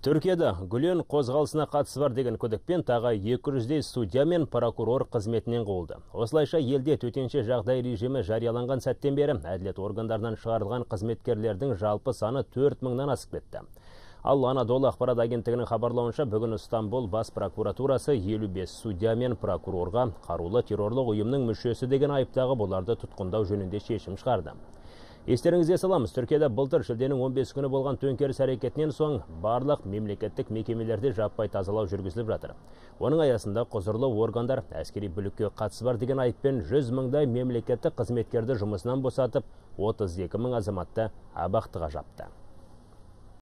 Түркияда Гүлен қозғалысына қатысы бар деген күдікпен тағы 200-дей судья мен прокурор қызметінен қуылды. Осылайша елде төтенше жағдай режимі жарияланған сәттен бері әділет органдарынан шығарылған қызметкерлердің жалпы саны 4000-нан асып кетті. Ал Анадолу ақпарат агенттігінің хабарлауынша бүгін Стамбул бас прокуратурасы 55 судья мен прокурорға қарулы террорлық ұйымның мүшесі деген айыптағы бұларды тұтқындау жөнінде шешім шығарды. Естеріңізге саламыз, Түркияда былтыр шілденің 15 күні болған төңкеріс әрекетінен соң барлық мемлекеттік мекемелерде жаппай тазалау жүргізіліп жатыр. Оның аясында құзырлы органдар әскери бүлікке қатысы бар деген айыппен 100 мыңдай мемлекеттік қызметкерді жұмысынан босатып, 32 мың азаматты абақтыға жапты.